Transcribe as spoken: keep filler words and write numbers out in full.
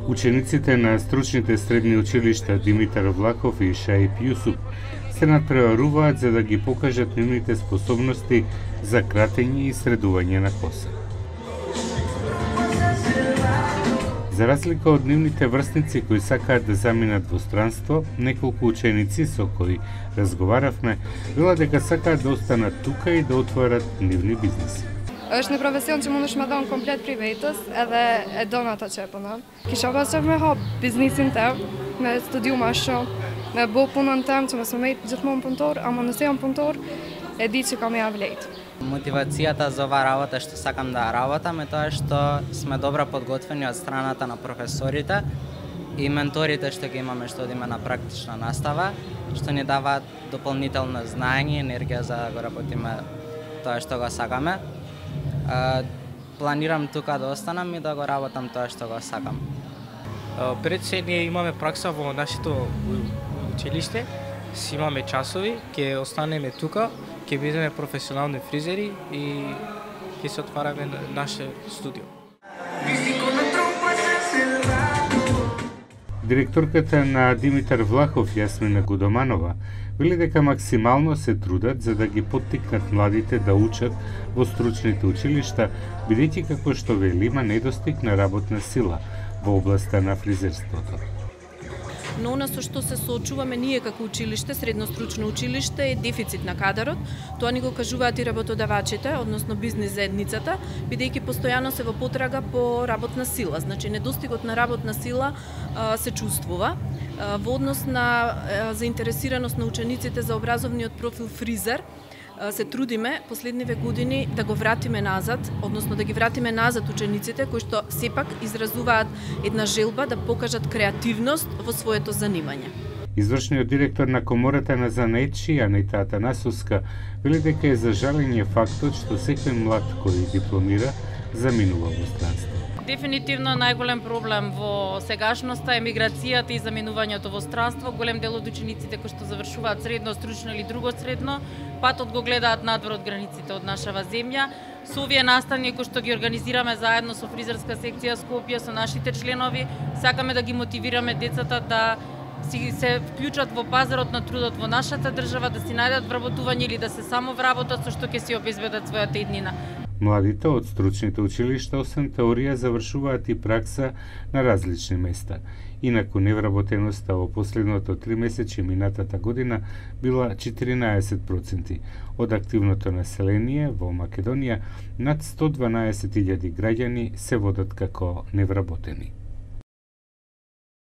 Учениците на стручните средни училишта Димитар Влахов и Шаип Јусуп се надпреваруваат за да ги покажат нивните способности за кратење и средување на коса. За разлика од нивните врсници кои сакаат да заминат во странство, неколку ученици со кои разговаравме велат дека сакаат да останат тука и да отворат нивни бизнеси. Është një profesion që mund është me dhonë komplet privatës edhe e do në ato që e punon. Kisha pas që me hap biznisin tem, me studiu ma shumë, me bo punën tem që mësë me mejtë gjithmonë punëtor, ama nëse jam punëtor, e di që kam ja vlejtë. Мотивацијата за оваа работа што сакам да работам е тоа што сме добро подготвени од страната на професорите и менторите што ги имаме што одиме на практична настава, што ни даваат дополнително знаење и енергија за да го работиме тоа што го сакаме. Планирам тука да останам и да го работам тоа што го сакам. Пред се ние имаме пракса во нашето училиште, си имаме часови, ќе останеме тука, ќе бидеме професионални фризери и ќе се отвараме наше студио. Директорката на Димитар Влахов, Јасмина Гудоманова, вели дека максимално се трудат за да ги поттикнат младите да учат во стручните училишта, бидејќи како што вели има недостиг на работна сила во областа на фризерството. Но она со што се соочуваме ние како училиште, средно стручно училиште, е дефицит на кадарот. Тоа ни го кажуваат и работодавачите, односно бизнис заедницата, бидејќи постојано се во потрага по работна сила. Значи недостигот на работна сила а, се чувствува. А, во однос на а, заинтересираност на учениците за образовниот профил фризер, се трудиме последниве години да го вратиме назад, односно да ги вратиме назад учениците кои што сепак изразуваат една желба да покажат креативност во своето занимање. Извршниот директор на Комората на занаетчи, Анита Атанасовска, вели дека е за жалење фактот што секој млад кој дипломира заминува во странство. Дефинитивно најголем проблем во сегашноста е миграцијата и заминувањето во странство. Голем дел од учениците кои што завршуваат средно, стручно или друго средно, патот го гледаат надвор од границите од нашава земја. Со овие настани кои што ги организираме заедно со фризерска секција Скопје, со нашите членови, сакаме да ги мотивираме децата да си се вклучат во пазарот на трудот во нашата држава, да си најдат вработување или да се само вработат со што ќе си обезбедат својата иднина. Младите од стручните училишта освен теорија завршуваат и пракса на различни места. Инаку невработеноста во последното три месече минатата година била четиринаесет проценти. Од активното население во Македонија над сто дванаесет илјади граѓани се водат како невработени.